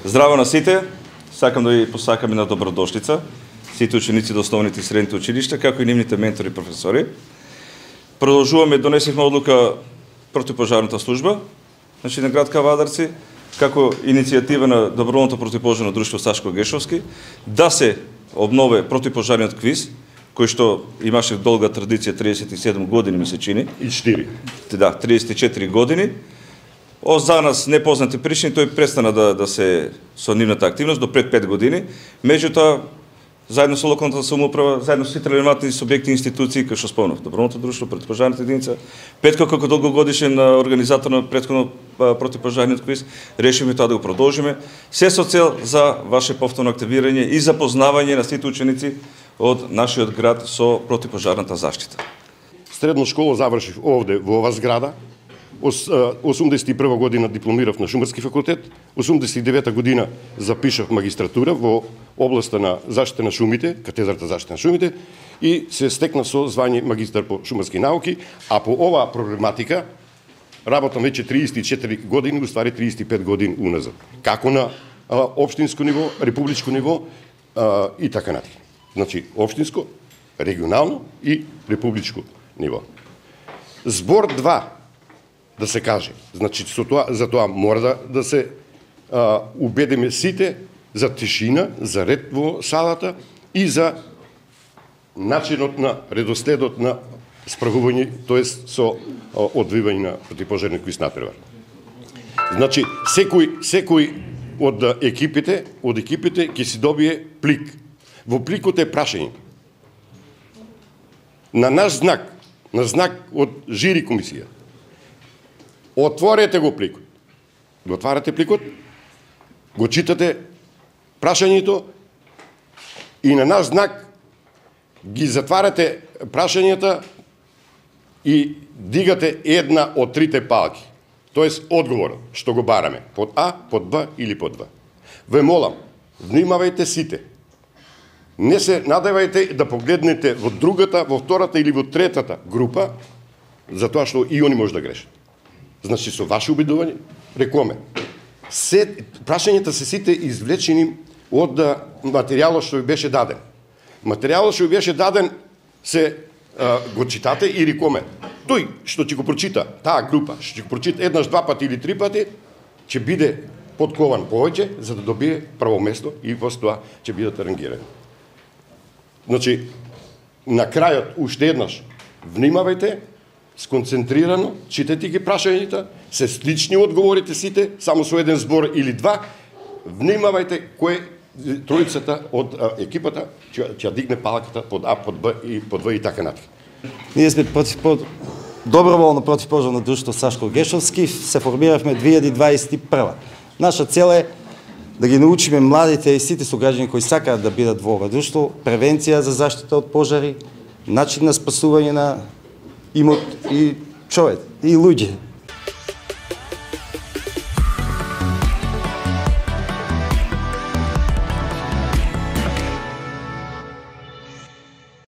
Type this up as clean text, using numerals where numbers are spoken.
Здраво на сите, сакам да ви посакам една добродошлица, сите ученици до основните и средните училишта, како и нивните ментори и професори. Продолжуваме, донесихме одлука противпожарната служба, значи на град Кавадарци, како иницијатива на доброволното противпожарно друштво Сашко Гешовски, да се обнове противпожарниот квиз, кој што имаше долга традиција 37 години, ми се чини. И 4. Да, 34 години. За нас непознати причини тој престана да се со нивната активност до пред 5 години. Меѓутоа, заедно со локалната самоуправа, заедно со сите релевантни субјекти и институции, кои што спомнав, доброволното друштво, противпожарната единица, Петко како долгогодишен организатор на претходно противпожарниот квиз, решиме тоа да го продолжиме, се со цел за ваше повторно активирање и запознавање на сите ученици од нашиот град со противпожарната заштита. Средна школа завршив овде во ова зграда. 81 година дипломирав на Шумарски факултет, 89 година запишав магистратура во областа на заштита на шумите, катедрата заштита на шумите, и се стекнав со звање магистар по шумарски науки, а по оваа проблематика работам веќе 34 години, уствари 35 години уназад. Како на општинско ниво, републичко ниво и така натаму. Значи, општинско, регионално и републичко ниво. Збор 2, да се каже. Значи, за тоа мора да се убедиме сите за тишина, за ред во салата и за начинот на редоследот на справување, тоест со одвивање на противпожарни квиз натпревар. Значи, секој од екипите ќе си добие плик. Во пликот е прашање. На наш знак, на знак од жири комисија, отворете го пликот. Го отварате пликот, го читате прашањето и на наш знак ги затварате прашањата и дигате една од трите палки. Тоест одговор што го бараме, под А, под Б или под В. Ве молам, внимавајте сите. Не се надевајте да погледнете во другата, во втората или во третата група, затоа што и они може да грешат. Значи, со ваше убедување, рекоме, прашањата се сите извлечени од материјалот што ви беше даден. Материјалот што ви беше даден го читате и рекоме, тој што ќе го прочита, таа група, што ќе го прочита еднаш, два пати или три пати, ќе биде подкован повеќе, за да добие прво место и после тоа ќе бидат рангирани. Значи, на крајот, уште еднаш, внимавајте, сконцентрирано, читайте ги прашањата, се слични одговорите сите, само со еден збор или два, внимавајте кој тројцата од екипата ќе дигне палката под А, под Б и под В и така натаму. Ние сме доброволно противпожарно друштво Сашко Гешовски, се формиравме 2021. Наша цел е да ги научиме младите и сите сограѓани кои сакаат да бидат во ова друштво, превенција за заштита од пожари, начин на спасување на имот и човек и луѓе.